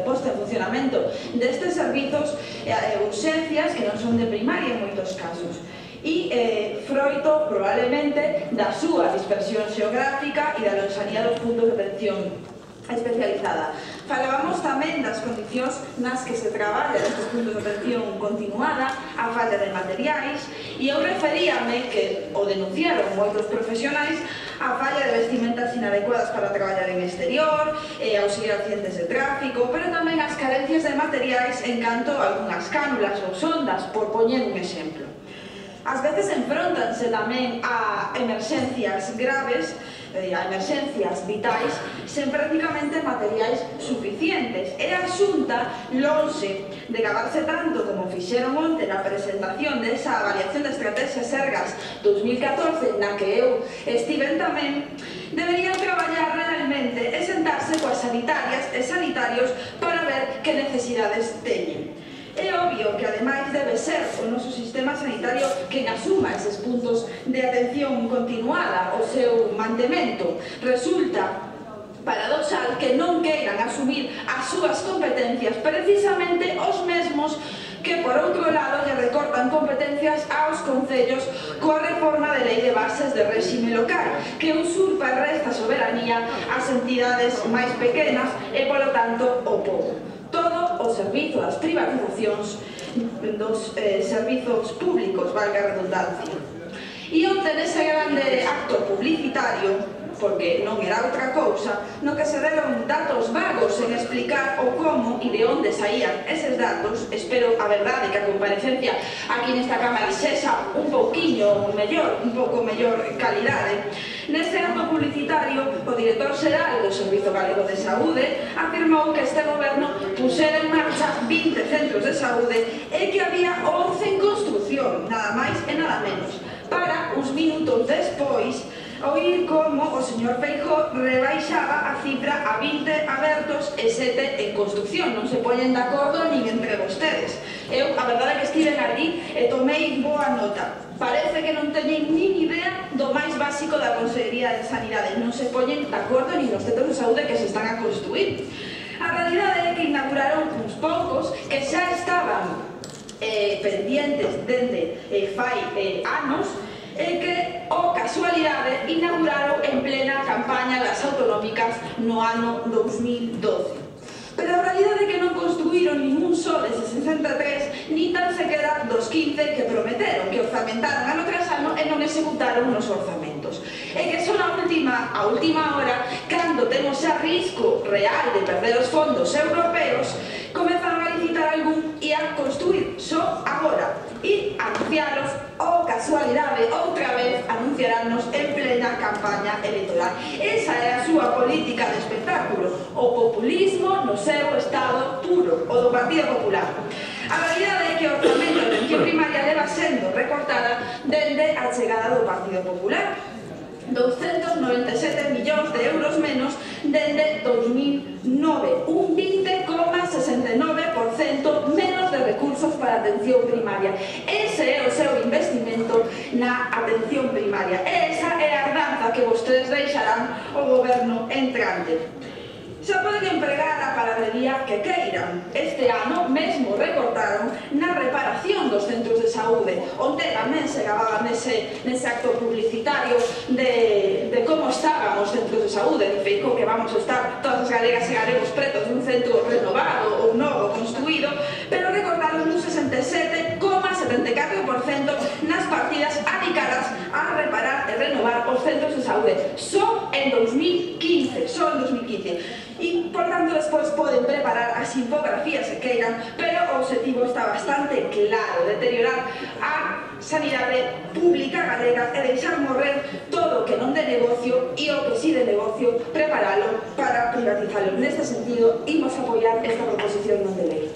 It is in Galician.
posta en funcionamento destes servizos urxencias que non son de primaria en moitos casos. E froito, probablemente, da súa dispersión xeográfica e da lonxanía dos puntos de atención especializada. Falábamos tamén das condicións nas que se traballa nestes puntos de atención continuada, a falta de materiais, e eu referíame que o denunciaron moitos profesionais a falla de vestimentas inadecuadas para traballar en exterior, auxiliar accidentes de tráfico, pero tamén as carencias de materiais en canto a algunhas cánulas ou sondas, por poñer un exemplo. Ás veces enfróntanse tamén a emerxencias graves, a emerxencias vitais, sen prácticamente materiais suficientes. E a Xunta, lonxe de gabarse tanto como fixeron onte na presentación desa avaliación de estrategias Sergas 2014, na que eu estiven tamén, deberían traballar realmente e sentarse coas sanitarias e sanitarios para ver que necesidades teñen. É obvio que, ademais, debe ser o noso sistema sanitario quen asuma eses puntos de atención continuada, o seu mantemento. Resulta paradoxal que non queiran asumir as súas competencias precisamente os mesmos que, por outro lado, lle recortan competencias aos concellos coa reforma de lei de bases de réxime local, que usurpa e resta soberanía ás entidades máis pequenas e, polo tanto, o pobo. Todo o servizo das privatizacións dos servizos públicos, valga a redundancia. E onte nese grande acto publicitario, porque non era outra cousa, no que se deron datos vagos en explicar o como e de onde saían eses datos, espero a verdade que a comparecencia aquí nesta Cámara sexa un pouquiño mellor, un pouco mellor calidade. Neste acto publicitario, o director xeral do Servizo Galego de Saúde afirmou que este goberno pusera en marcha 20 centros de saúde e que había 11 en construción, nada máis e nada menos, para uns minutos despois oír como o señor Feijóo rebaixaba a cifra a 20 abertos e 7 en construción. Non se poñen de acordo nin entre vostedes. Eu, a verdade é que estiven ali e tomei boa nota. Parece que non teñen nin idea do máis básico da Consellería de Sanidade. Non se poñen de acordo nin nos centros de saúde que se están a construir. A realidade é que inauguraron uns poucos que xa estaban pendientes dende fai anos e que, o casualidade, inauguraron en plena campaña das autonómicas no ano 2012. Pero a realidade é que non construíron ningún só deses 63, ni tan sequera dos 15 que prometeron, que orzamentaron ano tras ano e non executaron nos orzamentos. E que son a última hora, cando temos xa risco real de perder os fondos europeos, comezaron a licitar algún e a construir só agora e anunciaros, o casualidade, outra vez anunciaránnos en plena campaña electoral. Esa é a súa política de espectáculo, o populismo no seu estado puro, o do Partido Popular. A realidade é que o orzamento de atención primaria leva sendo recortada dende a chegada do Partido Popular. 297 millóns de euros menos dende 2009, un 20,69% menos de recursos para a atención primaria. Ese é o seu investimento na atención primaria. Esa é a herdanza que vostedes deixarán ao goberno entrante. Xa poden empregar a palabrería que queiran. Este ano mesmo recortaron na reparación dos centros de saúde, onde tamén se gababa nese acto publicitario de como estaban os centros de saúde. De Feijóo que vamos a estar todas as galegas e galegos pretos dun centro renovado ou novo construído, pero recortaron un 67,74% nas partidas adicadas a reparar e renovar os centros de saúde. Só en 2015, E, por tanto, despois poden preparar as infografías que queiran, pero o objetivo está bastante claro: deteriorar a sanidade pública galega e deixar morrer todo o que non de negocio e o que si de negocio preparalo para privatizalo. Neste sentido, imos apoiar esta proposición non de lei.